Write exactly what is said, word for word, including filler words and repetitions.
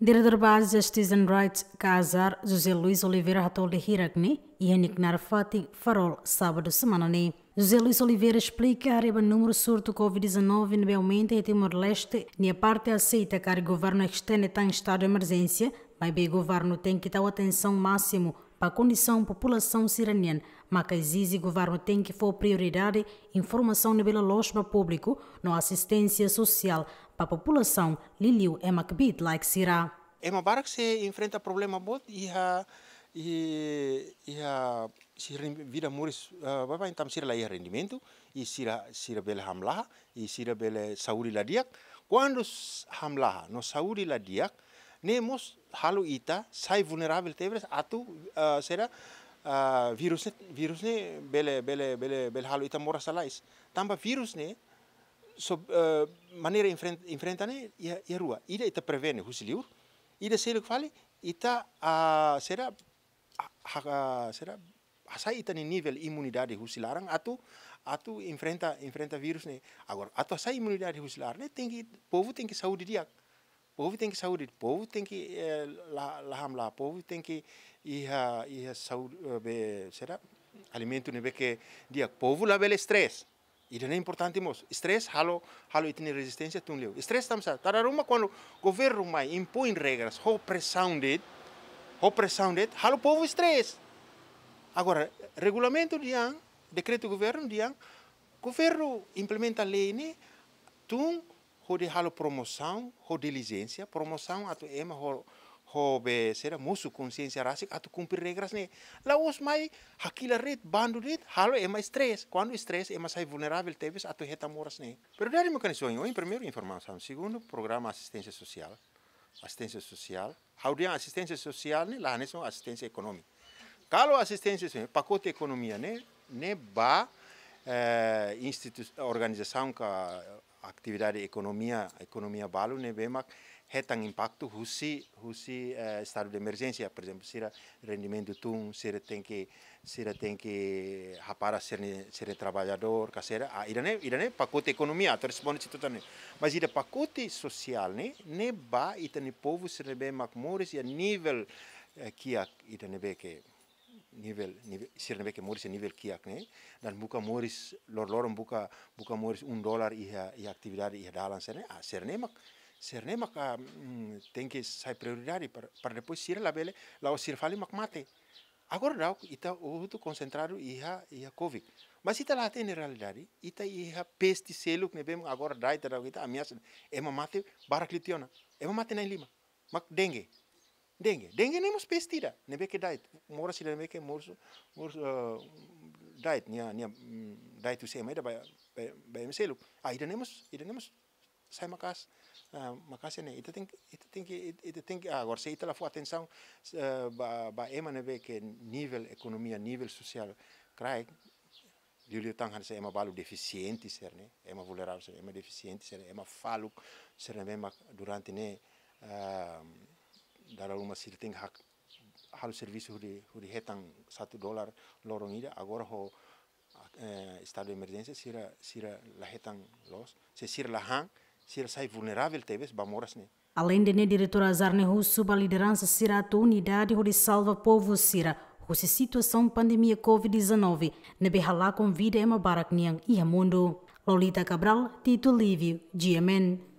Diretór Baze Justice and Rights, KAJR, José Luís Oliveira hato'o lia hirak ne'e iha nia knaar fatin Farol, sábadu semana ne'e. José Luís Oliveira esplika haree ba númeru surtu COVID dezanove ne'ebé aumenta iha Timor-Leste, nia parte aseita karik governu estende tan estadu de emerjénsia, maibé governu tenke tau atensaun másimu ba kondisaun populasaun sira-nian, maka ezije governu tenke fó prioridade informasaun ne'ebé loloos ba públiku no asisténsia sosiál ba populasaun, liuliu ema kbiit-laek sira. Ema barak sei enfrenta problema boot iha, i-, iha sira-nia vida moris, eh, baibain tanba sira la iha rendimentu, i sira, sira bele hamlaha, i sira bele saúde la di'ak. Kuandu s-, hamlaha no saúde la di'ak, ne'e mós halo ita sai vulneravel tebes atu, eh, sira, eh, vírus ne'e, vírus ne'e bele, bele, bele, bele halo ita moras lalais. Tanba vírus ne'e, so, eh, maneira enfren-, enfrenta ne'e iha, iha rua. Ida ita prevene husi liur, ida seluk fali ita, ah, sira, ha-, ha-, sira, hasai ita-nia nivel imunidade husi laran atu, atu enfrenta, enfrenta vírus ne'e. Agora, atu hasai imunidade husi laran ne'e tenke, povu tenke saúde di'ak. Povu tenke saúde, povu tenke, eh, la, la hamlaha, povu tenke iha, iha saúde, eh, be, sira, alimentu ne'ebé ke di'ak, povu labele stress. Ida-ne'e importante mós. Stress halo, halo ita-nia rezisténsia tun liu. Stress tanba sá? Dala ruma kuandu governu mai impoin regras ho presaun de'it, ho presaun de'it, halo povu stress. Agora, regulamentu dehan, dekretu governu dehan, governu implementa lei ne'e tun hodi halo promosaun, ho dilijénsia, promosaun atu ema ho, ho be sira mosu konsiénsia rasik atu kumpre regras ne'e. La'ós mai hakilar de'it, bandu de'it, halo ema stress. Kuandu stress, ema sai vulneravel tebes atu hetan moras ne'e. Prioridade mekanizmu oin, oin primeiru informasaun, segundu programa asisténsia sosiál. Asisténsia sosiál. Ha'u dehan asisténsia sosiál ne'e la hanesan asisténsia ekonomia. Kalau asisténsia sosiál, pakote ekonomia ne'e, ne'e ba, eh, institu-, organizasaun ka atividade ekonomia, ekonomia balu ne'ebé mak hetan impaktu husi, husi, eh, estadu de emerjénsia, por ezemplu, sira rendimentu tun, sira tenke, sira tenke hapara sira-nia, sira-nia traballadór, ka sira, ah, ida-ne'e, ida-ne'e pakote ekonomia, atu responde situasaun ne'e. Mas ida pakote sosiál ne'e, ne'e ba ita-nia povu sira ne'ebé mak moris iha nivel, eh, kiak, ida ne'ebé ke nivel, nivel, sira ne'ebé ke moris iha nivel kiak ne'e, dan buka moris lor-loron, buka, buka moris um dólar iha, iha atividade iha dalan sira-ne'e, ah, sira-ne'e mak, sira-ne'e mak, ah, mm, tenke sai prioridade para, para depois sira labele, la'ós sira fali mak mate. Agora daudaun ita hotu konsentradu iha, iha covid. Mas ita la hatene realidade, ita iha peste seluk ne'ebé agora da'et daudaun ita ameasa, ema mate barak liu tiha ona. Ema mate na'in-lima. Mak dengue. Dengue. Dengue ne'e mós peste ida ne'ebé ke da'et. Moras ida ne'ebé ke moras, moras, eh, da'et, nia, nia, mm, da'et husi ema ida ba, ba, ba ema seluk. Ah, ida-ne'e mós, ida-ne'e mós sai maka'as, ah, maka'as ne'e. Ita tenke, ita tenke, ita tenke, ah, agora se ita la fó atensaun, eh, ba, ba ema ne'ebé ke nivel ekonomia, nivel sosiál kraik, liuliu tan hanesan ema balu defisiente sira-ne'e, ema vulneravel sira-ne'e, ema defisiente sira-ne'e, ema faluk sira-ne'e mak durante ne'e, ah, dala ruma sira tenke hak-, halo servisu hodi, hodi hetan satu dólar loron ida, agora ho, eh, estadu de emerjénsia sira, sira la hetan loos, se sira la han, sira sai vulneravel tebes ba moras ne'e. Aleinde ne'e, diretór KAJR ne'e husu ba lideransa sira atu unidade hodi salva povu sira husi situasaun pandemia covid dezanove ne'ebé halakon vida ema barak nian iha mundu. Lolita Cabral, Tito Livio, G M N.